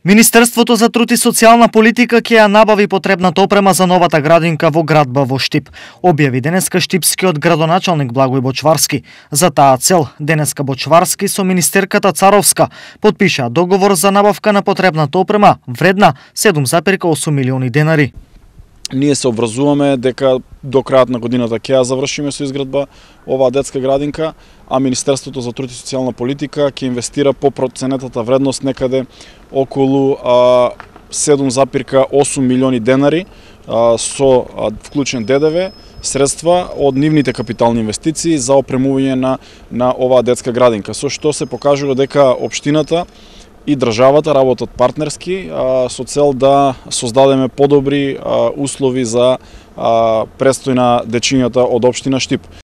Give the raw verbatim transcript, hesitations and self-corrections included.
Министерството за труд и социјална политика ќе ја набави потребната опрема за новата градинка во градба во Штип, објави денеска штипскиот градоначалник Благој Бочварски. За таа цел, денеска Бочварски со министерката Царовска потпишаа договор за набавка на потребната опрема вредна седум зарем осум милиони денари. Ние се обврзуваме дека до крајот на годината ќе ја завршиме со изградба оваа детска градинка, а Министерството за труд и социјална политика ќе инвестира по проценетата вредност некаде околу седум зарем осум милиони денари со вклучен Д Д В, средства од нивните капитални инвестиции за опремување на на оваа детска градинка, со што се покажува дека општината и државата работат партнерски со цел да создадеме подобри услови за престој на дечињата од општина Штип.